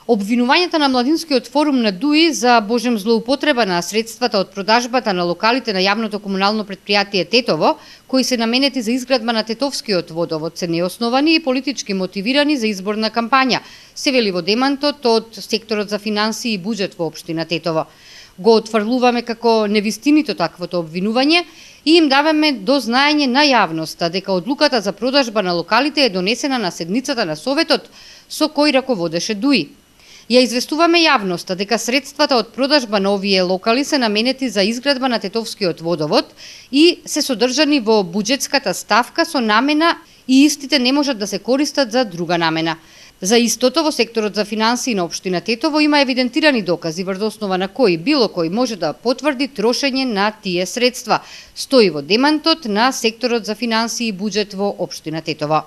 Обвинувањата на Младинскиот форум на ДУИ за божем злоупотреба на средствата од продажбата на локалите на јавното комунално предпријатие Тетово, кои се наменети за изградба на Тетовскиот водовод, се неосновани и политички мотивирани за изборна кампања, се вели во демантот од секторот за финансии и буџет во општина Тетово. Го отфрлуваме како невистинито таквото обвинување и им даваме до знаење на јавноста дека одлуката за продажба на локалите е донесена на седницата на Советот со кој раководеше ДУИ. Ја известуваме јавноста дека средствата од продажба на овие локали се наменети за изградба на Тетовскиот водовод и се содржани во буџетската ставка со намена и истите не можат да се користат за друга намена. За истото во секторот за финансии на општина Тетово има евидентирани докази врз основа на кои било кој може да потврди трошење на тие средства, стои во демантот на секторот за финансии и буџет во општина Тетово.